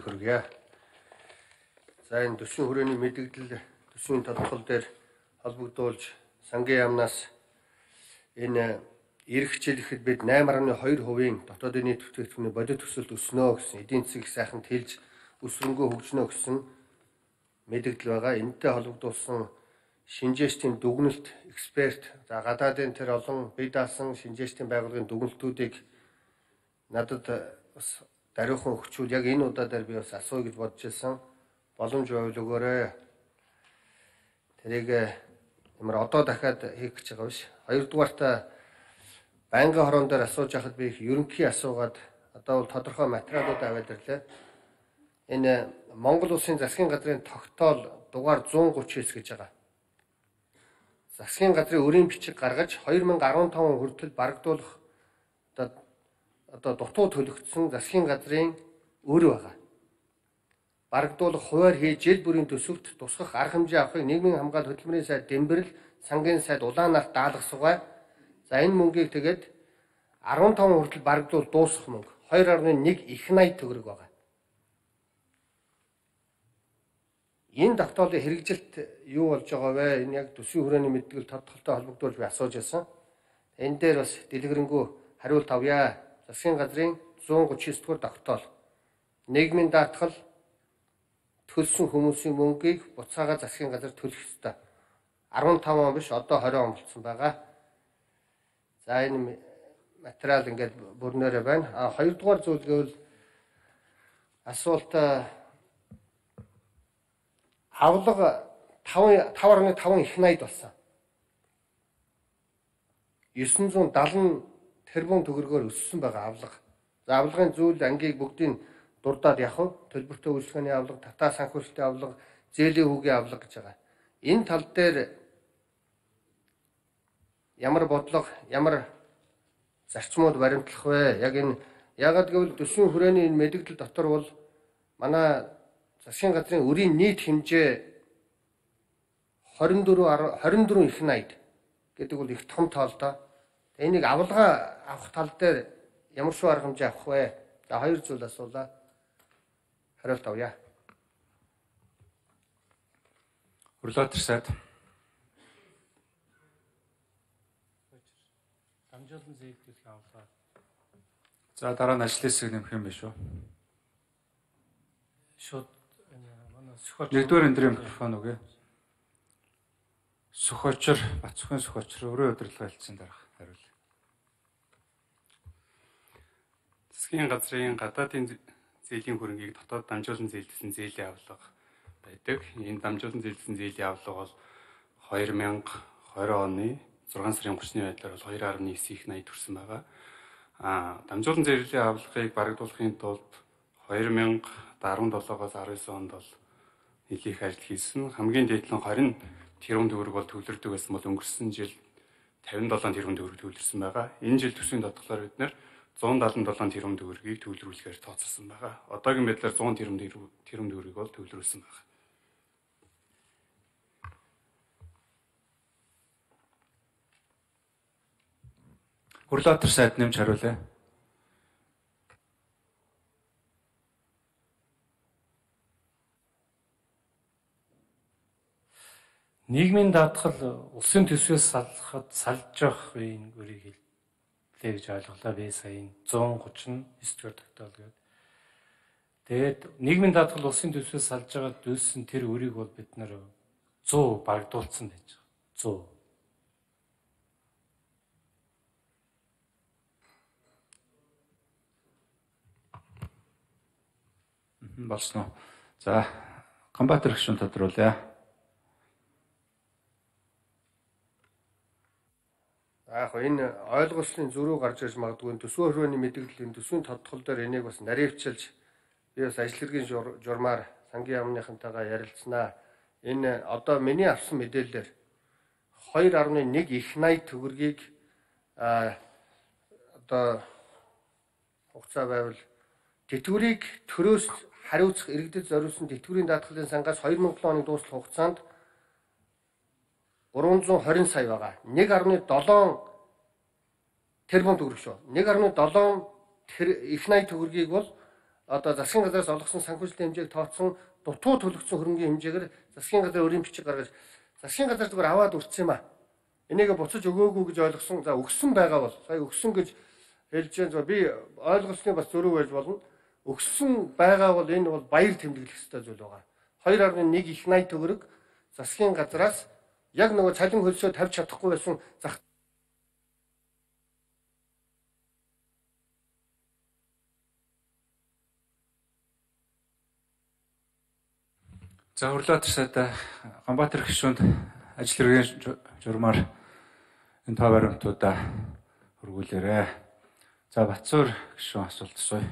Хүргье. За энэ төсвийн хүрээний мэдээлэл төсвийн тодорхойл дээр холбогдуулж сангийн яамнаас энэ эх хичээлэхэд бид 8.2% дотоодын нийт бүтээгдэхүүний бодит төсөлд өснө гэсэн эдийн засгийг сайханд хэлж өсрөнгөө хөгжнө гэсэн мэдээлэл байгаа. Энэтэй холбогдуулсан шинжээчдийн дүгнэлт эксперт за гадаадын тэр олон бие даасан шинжээчдийн байгууллагын дүгнэлтүүдийг надад бас даруйхан өгчүүл яг энэ удаа дээр би бас асууя гэж бодож байсан. Боломж байвал өгөөрэй. Тэрийг ямар одоо дахиад хийх гэж байгаа биш. Хоёрдугаарт байнгын хорон дээр асууж байхад би их ерөнхий асуугаад одоо бол тодорхой материалууд аваад ирлээ. Энэ Монгол Улсын засгийн газрын тогтоол дугаар 139 гэж байгаа. Засгийн газрын өрийн бичиг гаргаж 2015 хүртэл барагдуулах одоо дутуу төлөгдсөн засгийн газрын өр байгаа. Барагдуулах хуваар хийж жил бүрийн төсөвт тусгах арга хэмжээ авахыг нийгмийн хамгаалалт хөтөлмөрийн сайд Дэмбэрэл, сангийн сайд Улаанаарт даалгасугай. За энэ мөнгийг тэгээд 15 хүртэл барагдуул дуусгах мөнгө 2.1 их 80 төгрөг байгаа. Энэ тогтоолын хэрэгжилт юу болж байгаа вэ? Энэ яг төсвийн хүрээний мэдээлэл тодтолтой холбогдуулж би асууж байсан. Энэ дээр бас дэлгэрэнгүй хариулт авъя. Засгийн газрын 139 дугаар тогтоол. Нийгмийн даатгал төлсөн хүмүүсийн мөнгийг буцаага засгийн газар төлөх ёстой. 15 он биш одоо 20 он болсон байгаа. За энэ материал ингээд бүрнээрээ байна. Хоёрдугаар зүйл гэвэл асуулт авлага 5.5 их 80 болсон. 970 тэрбум төгрөгөөр өссөн байгаа авлага. За авлагын зүйл ангийг бүгдийг дурдаад явах төлбөртэй үйлчлэгээний авлага, татаа санхүүжилтийн авлага, зээлийн хүүгийн авлага гэж байгаа. Энэ тал дээр ямар бодлого, ямар зарчмууд баримтлах вэ? Яг энэ яагаад гэвэл төсвийн хүрээний энэ мэдээлэл дотор бол манай засгийн газрын өрийн нийт хэмжээ 24 их 80 гэдэг бол их том тоолтой. Энийг авлага авах тал дээр ямар шүү арга хэмжээ авах вэ? За хоёр зүйл асуулаа. Хариулт авъя. Хурлаатар сайд. Дамжуулан зээлдүүлэх авлага. За дараа нь ажлын хэсэг нэмэх юм биш үү? Шууд манай сөхөж Нэгдүгээр эндрийн микрофон үгүй. Сөхөчр, Бацхан сөхөчр өрөө удирдлага хэлсэн дарга хариул. Засгийн газрын гадаадын зээлийн хөрөнгийг дотоод дамжуулан зээлдсэн зээлийн авлага байдаг. Энэ дамжуулан зээлдсэн зээлийн авлага бол 2020 оны 6 сарын 30-ны байдлаар бол 2.9 их 80 төрсэн байгаа. Дамжуулан зээлийн авлагыг барагдуулахын тулд 2017-аас 19 онд бол нэлээх ажил хийсэн. Хамгийн дээд нь 20 тэрбум төгрөг бол төвлөрдөг байсан бол өнгөрсөн жил 57 тэрбум төгрөг төвлөрсөн байгаа. Энэ жил төсвийн тодглоор бид нэр 177 тэрбум төгрөгийг төвлөрүүлэхээр тооцсон байгаа. Одоогийн байдлаар 100 тэрбум төгрөгийг бол төвлөрүүлсэн байгаа. Хурлаатар сайд нэмж хариулъя. нийгмийн даатгал улсын төсвөөс салж явах үеийн өрийг хэллээ гэж ойлголоо. Би сая 139 дугаар тогтоол гэдэг. Тэгээд нийгмийн даатгал улсын төсвөөс салж байгаа дүүсэн тэр өрийг бол бид нэр 100 барагдуулсан байж байгаа. 100. Болсон уу? За, Гамбатар гишүүн тодруулъя. Яг энэ ойлгуулсны зөрүү гарч ирж магадгүй төсвийн хүрээний мэдээллийн төсвийн тодтгол дээр энийг бас наривчилж би бас ажил хэргийн журмаар сангийн яамныхантайгаа ярилцсанаа. Энэ одоо миний авсан мэдээлэлээр 2.1 их 80 төгрөгийг одоо хугацаа байвал тэтгэврийг төрөөс хариуцах иргэдэд зориулсан тэтгэврийн даатгалын сангаас 2007 оны дуустал хугацаанд 320 сая байгаа. 1.7 тэрбум төгрөг шүү. 1.7 их 80 төгрөгийг бол одоо засгийн газраас олгосон санхүүжилтийн хэмжээг тооцсон дутуу төлөгдсөн хөрөнгөний хэмжээгээр засгийн газар өрийн бичиг гаргаж засгийн газар зүгээр аваад үрцсэн юм а. Энийг буцаж өгөөгүй гэж ойлгосон. За өгсөн байгаа бол сая өгсөн гэж хэлж байгаа. Би ойлголцны бас зөрүү байж болно. Өгсөн байгаа бол энэ бол баяр тэмдэглэх ёстой зүйл байгаа. 2.1 их 80 төгрөг засгийн газраас яг нөгөө цалин хөлсөө тавьж чадахгүй байсан зах. За хурлаа ташаад Ганбаатар гишүүнд ажил хэргийн журмаар энэ тоо баримтуудаа хөргүүлээрэ. За Батцуур гишүүн асуулт асууя.